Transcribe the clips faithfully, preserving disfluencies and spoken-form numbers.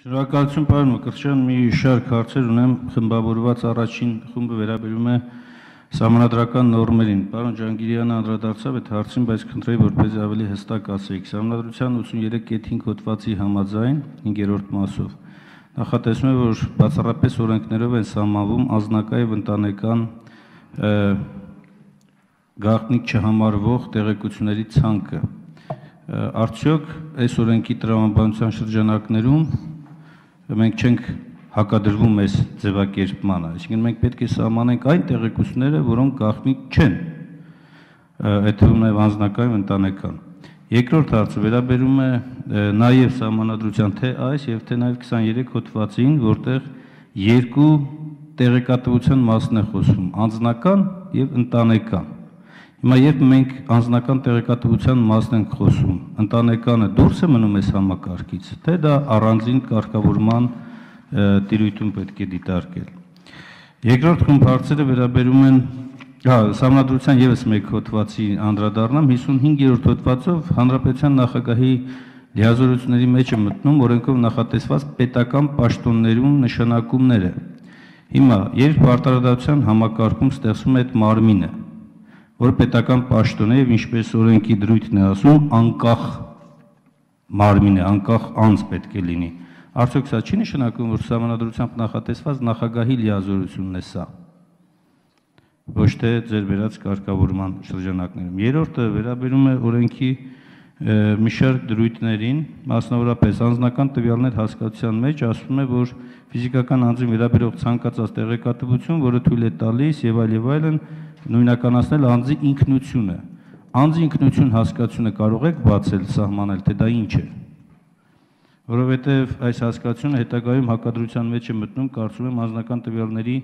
Շնորհակալություն, պարոն Մկրտչյան, մի շարք հարցեր ունեմ, խմբավորված առաջին խումբը վերաբերում է սահմանադրական նորմերին։ Պարոն Ջանգիրյանը անդրադարձավ այդ հարցին, բայց խնդրեի, որպեսզի ավելի հստակ ասեիք։ Սահմանադրության ութսուներեք կետ հինգ հոդվածի համաձայն հինգերորդ մասով նախատեսվում է, որ բացառապես օրենքներով են սահմանվում անձնակա եւ ընտանեկան գաղտնիք չհամարվող տեղեկությունների ցանկը։ Արդյոք այս օրենքի տրամաբանության շրջանակներում մենք չենք հակադրվում այս ձևակերպմանը, այսինքն մենք պետք է սահմանենք այն տեղեկությունները, որոնք գաղտնիք չեն, այդ թվում նաև անձնական եւ ընտանեկան։ Երկրորդ հարցը վերաբերում է նաև սահմանադրության թե այս եւ թե նաև քսաներեք հոդվածին, որտեղ երկու տեղեկատվության մասն է խոսում՝ անձնական եւ ընտանեկան։ Հիմա երբ մենք անձնական տեղեկատվության մասն ենք խոսում, ընտանեկանը դուրս է մնում այս համակարգից, թե դա առանձին կարգավորման տիրույթում պետք է դիտարկել։ Երկրորդ խումբ հարցերը վերաբերում են սահմանադրության ևս մեկ հոդվածի անդրադառնամ, հիսունհինգերորդ հոդվածով հանրապետության նախագահի լիազորությունների մեջ է մտնում օրենքով նախատեսված պետական պաշտոններում նշանակումները։ Հիմա երբ արտարադատության համակարգում ստեղծվում է այդ մարմինը, որ պետական պաշտոն է եւ ինչպես օրենքի դրույթն է ասում, անկախ մարմին է, անկախ անձ պետք է լինի։ Արդյոք սա չի նշանակում, որ սահմանադրությամբ նախատեսված նախագահի լիազորությունն է սա, ոչ թե ձեր վերած կարգավորման շրջանակներում։ Երրորդը վերաբերում է օրենքի մի շարք դրույթներին, մասնավորապես անձնական տվյալներ հասկացության մեջ ասվում է, որ ֆիզիկական անձին վերաբերող ցանկացած տեղեկատվություն, որը թույլ է տալիս եւ այլ եւ այլն, նույնականացնել անձի ինքնությունը։ Անձի ինքնություն հասկացությունը կարող եք բացել, սահմանել, թե դա ինչ է։ Որովհետև այս հասկացությունը հետագայում հակադրության մեջ է մտնում, կարծում եմ, անձնական տվյալների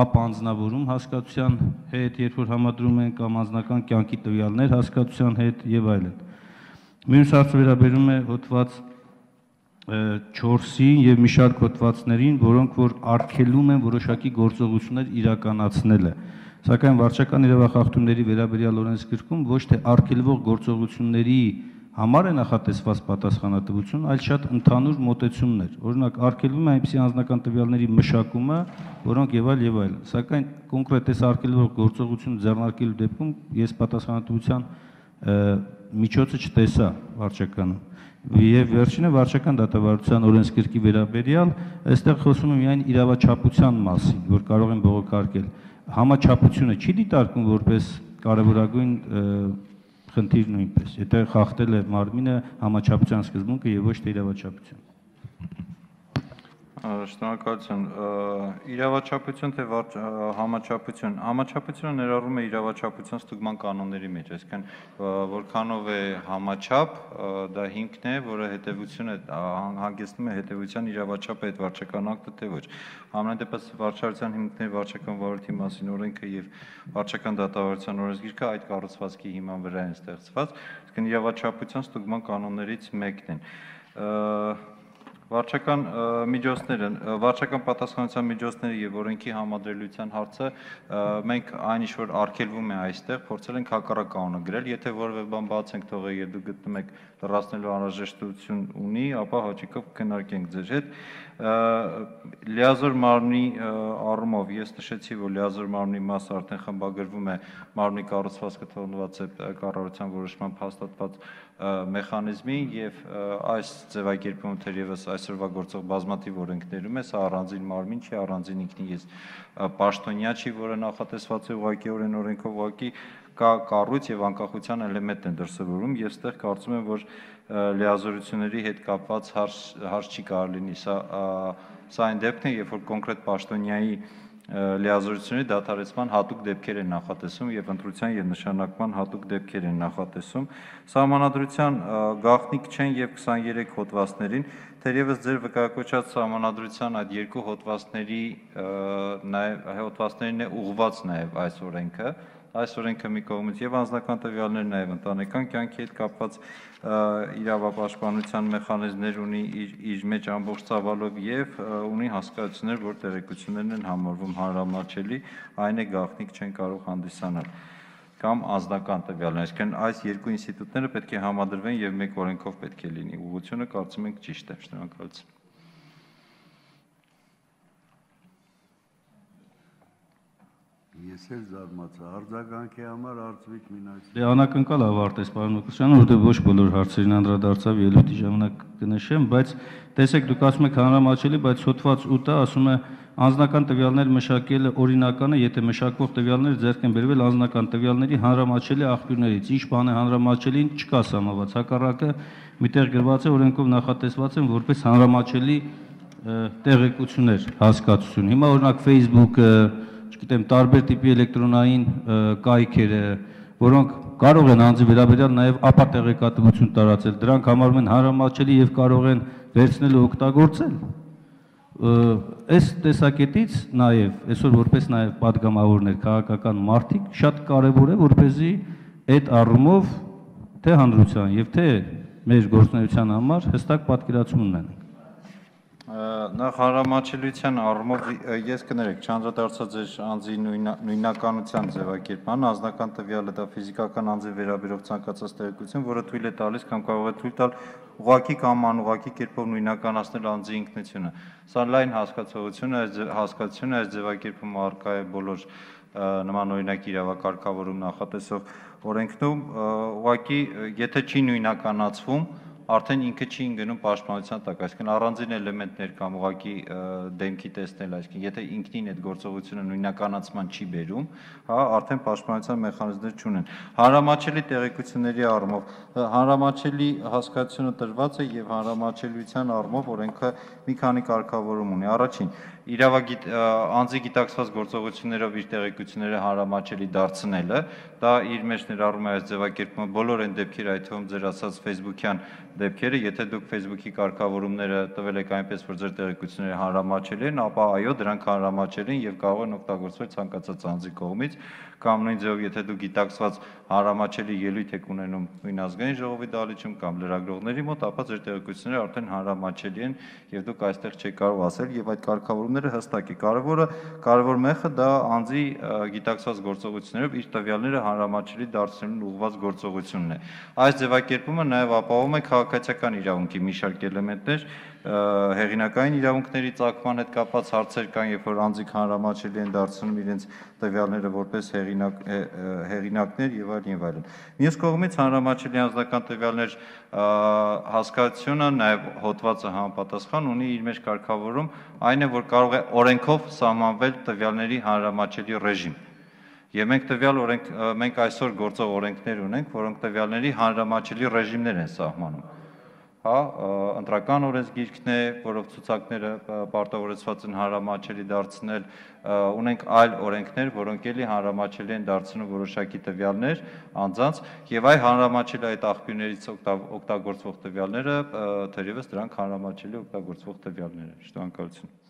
ապանձնավորում հասկացության հետ, երբ որ համադրում են կամ անձնական կյանքի տվյալներ հասկացության հետ եւ այլն։ Մյուս հարցը վերաբերում է հոդված չորսին եւ մի շարք հոդվածներին, որոնք որ արգելում են որոշակի գործողություններ իրականացնելը։ Սակայն վարչական իրավախախտումների վերաբերյալ օրենսգրքում ոչ թե արգելվող գործողությունների համար է նախատեսված պատասխանատվություն, այլ շատ ընդհանուր մոտեցումներ։ Օրինակ, արգելվում է այնպիսի անձնական տվյալների մշակումը, որոնք եւ այլ եւ այլ։ Սակայն կոնկրետ այս արգելվող գործողություն ձեռնարկելու դեպքում ես պատասխանատվության միջոցը չտեսա վարչականում։ Եվ վերջինը վարչական դատավարության օրենսգրքի վերաբերյալ, այստեղ խոսում է միայն իրավաչափության մասին, որ կարող են բողոքարկել։ Համաչափությունը չի դիտարկում որպես կարևորագույն խնդիր նույնպես, եթե խախտել է մարմինը համաչափության սկզբունքը եւ ոչ թե իրավաչափություն։ Շնորհակալություն։ Իրավաչափություն թե համաչափություն։ Համաչափությունը ներառում է իրավաչափության ստուգման կանոնների մեջ, այսինքն որքանով է համաչափ, դա հիմքն է, որը հետևություն է հանգեցնում է հետևության իրավաչափը այդ վարչական ակտը թե ոչ։ Համենայն դեպս վարչարության հիմքների վարչական վարորդի մասին օրենքը եւ վարչական դատավարության օրենսգիրքը այդ կառուցվածքի հիման վրա են ստեղծված, այսինքն իրավաչափության ստուգման կանոններից մեկն են։ Վարչական միջոցները, վարչական պատասխանատվության միջոցները եւ օրենքի համադրելիության հարցը մենք այն ինչ որ արգելվում է այստեղ փորձել ենք հակառակ կանոնը գրել, եթե որևէ բան բաց ենք թողել եւ դուք գտնում եք լրացնելու անհրաժեշտություն ունի, ապա հաճիկով կնարկենք ձեր հետ։ Լիազոր մարմնի առումով ես նշեցի, որ լիազոր մարմնի մասը արդեն խմբագրվում է մարմնի կառուցվածքը թողնված է կառավարության որոշմամբ հաստատված մեխանիզմի եւ այս ձևակերպումը թերևս այսօրվա գործող բազմաթիվ օրենքներում է, սա առանձին մարմին չի, առանձին ինքնին ես պաշտոնյա չի, որը նախատեսված է ուղղակիորեն օրենքով ուղղակի կա կառույց եւ անկախության էլեմենտ են դրսևորում եւ այստեղ կարծում եմ, որ լիազորությունների հետ կապված հարց հարց չի կարող լինի, սա սա այն դեպքն է, երբ որ կոնկրետ պաշտոնյայի լիազորությունների դադարեցման հատուկ դեպքեր են նախատեսում եւ ընտրության եւ նշանակման հատուկ դեպքեր են նախատեսում։ Սահմանադրության գաղտնիք չեն եւ քսաներեք հոդվածներին, թերևս ձեր վկայակոչած սահմանադրության այդ երկու հոդվածների նաեւ հոդվածներին է ուղղված նաեւ այս օրենքը, այս օրենքը մի կողմից եւ անձնական տվյալներ նաեւ ընտանեկան կյանքի հետ կապված իրավապաշտպանության մեխանիզմներ ունի իր մեջ ամբողջ ծավալով եւ ունի հասկացություններ, որ տեղեկություններն են համարվում հանրամատչելի, այն է գաղտնիք չեն կարող հանդիսանալ կամ անձնական տվյալներ, այսինքն այս երկու ինստիտուտները պետք է համադրվեն եւ մեկ օրենքով պետք է լինի։ Ուղղությունը կարծում ենք ճիշտ է։ Շնորհակալություն։ Ես էլ զարմացա, արձագանքի համար Արծվիկ Մինասյան։ Դե անակնկալ ավարտեց պարոն Մկրտչյան, որտեղ ոչ բոլոր հարցերին անդրադարձավ ելույթի ժամանակ կնշեմ, բայց տեսեք դուք ասում եք հանրամատչելի, բայց հոդված ութը ասում է անձնական տվյալներ մշակելը օրինական է, եթե մշակվող տվյալները ձեռք են բերվել անձնական տվյալների հանրամատչելի աղբյուրներից։ Ինչ բան է հանրամատչելին չկա սահմանված, հակառակը միտեղ գրված է օրենքով նախատեսված են որպես հանրամատչելի տեղեկություններ հասկացություն։ Հիմա օրինակ Facebook-ը, չգիտեմ, տարբեր տիպի էլեկտրոնային կայքերը, որոնք կարող են անձի վերաբերյալ նաև ապատեղեկատվություն տարածել, դրանք համարվում են հանրամատչելի եւ կարող են վերցնել ու օգտագործել։ Այս տեսակետից նաև այսօր որպես նաև падգամավորներ, քաղաքական մարդիկ շատ կարևոր է, որպեսզի այդ առումով թե հանրության եւ թե մեր գործունեության համար հստակ պատկերացում ունենանք։ Նախ հանրամատչելիության առումով ես կներեք, չանդրադարձա ձեր անձի նույնականության ձևակերպման, անձնական տվյալը դա ֆիզիկական անձի վերաբերող ցանկացած տեղեկություն, որը թույլ է տալիս կամ կարող է թույլ տալ ուղղակի կամ անուղղակի կերպով նույնականացնել անձի ինքնությունը։ Սա լայն հասկացողություն է, այս հասկացությունը այս ձևակերպումը առկա է բոլոր նմանօրինակ իրավակարգավորում նախատեսող օրենքներում, ուղղակի եթե չի նույնականացվում, արդեն ինքը չի ընկնում պաշտպանության տակ, այսինքն առանձին էլեմենտներ կամ ուղղակի դեմքի տեսնել, այսինքն եթե ինքնին այդ գործողությունը նույնականացման չի բերում, հա, արդեն պաշտպանության մեխանիզմներ չունեն։ Հանրամատչելի տեղեկությունների առումով, հանրամատչելի հասկացությունը տրված է եւ հանրամատչելիության առումով օրենքը մի քանի կարգավորում ունի։ Առաջին, իրավագիտ անձի գիտակցված գործողություններով իր տեղեկությունները հանրամատչելի դարձնելը, դա իր մեջ ներառում է այս ձևակերպումը բոլոր այն դեպքերը, այդ թվում ձեր ասած Facebook-յան դեպքերը, եթե դուք Facebook-ի կարգավորումները տվել եք այնպես, որ ձեր տեղեկությունները հանրամատչելի են, ապա այո, դրանք հանրամատչելի են եւ կարող են օգտագործվել ցանկացած անձի կողմից, կամ նույն ձևով, եթե դուք գիտակցված հանրամատչելի ելույթ եք ունենում նույն ազգային ժողովի դահլիճում կամ լրագրողների մոտ, ապա ձեր տեղեկությունները արդեն հանրամատչելի են եւ դուք այստեղ չեք կարող ասել եւ այդ կարգավորումները հստակ է։ Կարևորը, կարևոր մեխը դա անձի գիտակցված գործողություններով իր տվյալները հանրամատչելի դարձնելուն ուղղված գործողությունն է։ Այս ձևակերպումը նաեւ ապահովում է քաղաքացիական իրավունքի մի շարք էլեմենտներ, հեղինակային իրավունքների ծագման հետ կապված հարցեր կան, երբ որ անձիկ հանրամատչելի են դարձնում իրենց տվյալները որպես հեղինակ, հեղինակներ եւ այլն եւ այլն։ Մյուս կողմից հանրամատչելի անձնական տվյալներ հասկացությունը նաեւ հոդվածը համապատասխան ունի իր մեջ կարգավորում, այն է, որ կարող է օրենքով սահմանվել տվյալների հանրամատչելի ռեժիմ։ Եվ մենք տվյալ օրենք, մենք այսօր գործող օրենքներ ունենք, որոնք տվյալների հանրամատչելի ռեժիմներ են սահմանում։ Հա, ընտրական օրենսգիրքն է, որով ցուցակները պարտավորեցված են հանրամատչելի դարձնել, ունենք այլ օրենքներ, որոնք էլի հանրամատչելի են դարձնում որոշակի տվյալներ անձանց, եւ այ հանրամատչելի այդ աղբյուրներից օգտագործվող տվյալները, թերևս դրանք հանրամատչելի օգտագործվող տվյալներ են։ Շնորհակալություն։